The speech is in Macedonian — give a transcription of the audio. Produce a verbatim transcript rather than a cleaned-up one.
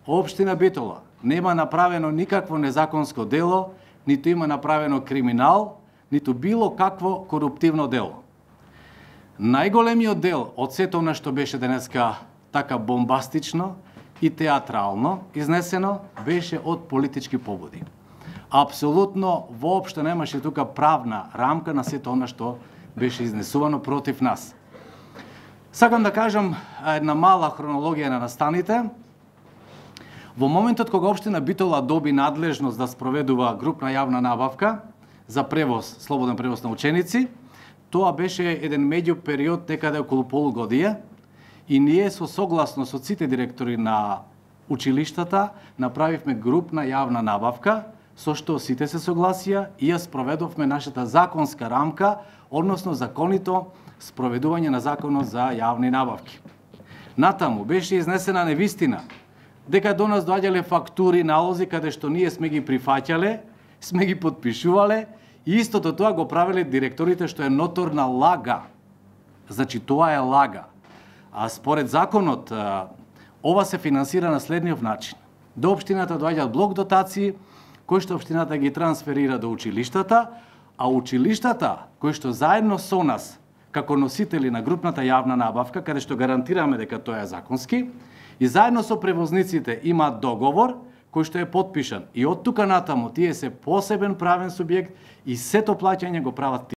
општина Битола нема направено никакво незаконско дело, ниту има направено криминал, ниту било какво коруптивно дело. Најголемиот дел од сето она што беше денеска така бомбастично и театрално изнесено беше од политички побуди. Апсолутно воопшто немаше тука правна рамка на сето она што беше изнесувано против нас. Сакам да кажам една мала хронологија на настаните. Во моментот кога општина Битола доби надлежност да спроведува групна јавна набавка за превоз, слободен превоз на ученици, тоа беше еден меѓу период некаде околу полугодие и ние со согласно со сите директори на училиштата направивме групна јавна набавка со што сите се согласија и ја спроведовме нашата законска рамка, односно законито спроведување на законот за јавни набавки. Натаму беше изнесена невистина дека до нас доаѓале фактури, налози каде што ние сме ги прифаќале, сме ги подпишувале и истото тоа го правеле директорите, што е ноторна лага. Значи тоа е лага. А според законот ова се финансира на следниот начин. До општината доаѓаат блок дотации кои што општината ги трансферира до училиштата, а училиштата кои што заедно со нас како носители на групната јавна набавка, каде што гарантираме дека тоа е законски, и заедно со превозниците имаат договор кој што е потпишан. И од тука натаму тие се посебен правен субјект и сето плаќање го прават